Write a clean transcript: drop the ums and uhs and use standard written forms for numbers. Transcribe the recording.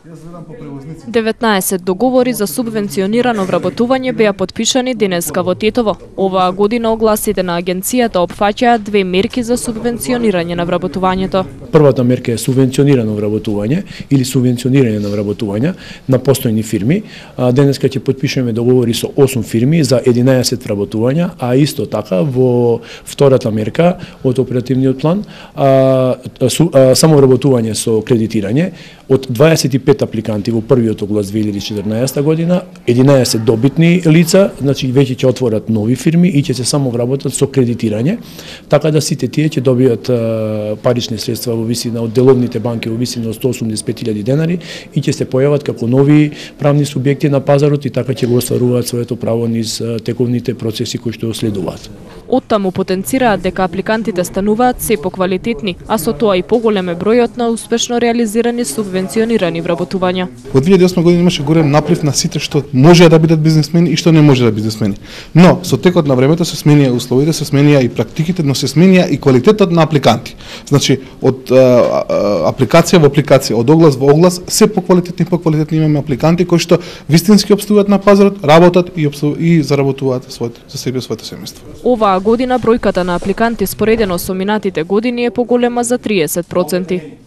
19 договори за субвенционирано вработување беа потпишани денеска во Тетово. Оваа година огласите на агенцијата опфаќаат две мерки за субвенционирање на вработувањето. Првата мерка е субвенционирано вработување или субвенционирање на вработување на постојни фирми. Денеска ќе потпишеме договори со 8 фирми за 11 вработувања, а исто така во втората мерка од оперативниот план само вработување со кредитирање од 25 апликанти во првиот оглас 2014 година, 11 добитни лица, значи веќе ќе отворат нови фирми и ќе се само вработат со кредитирање, така да сите тие ќе добијат парични средства во висина од деловните банки во висина од 185.000 денари и ќе се појават како нови правни субјекти на пазарот и така ќе го остваруваат своето право низ тековните процеси кои што следуваат. Оттаму потенцираат дека апликантите стануваат се поквалитетни, а со тоа и поголем е бројот на успешно реализирани субвенционирани вработувања. Во 2008 година имаше голем наплив на сите што може да бидат бизнисмени и што не може да бидат бизнисмени. Но со текот на времето се сменија условите, се сменија и практиките, но се сменија и квалитетот на апликанти. Значи од апликација во апликација, од оглас во оглас, се поквалитетни имаме апликанти кои што вистински опстуваат на пазарот, работат и заработуваат за себе и своето семејство. Оваа година бројката на апликанти споредено со минатите години е поголема за 30%.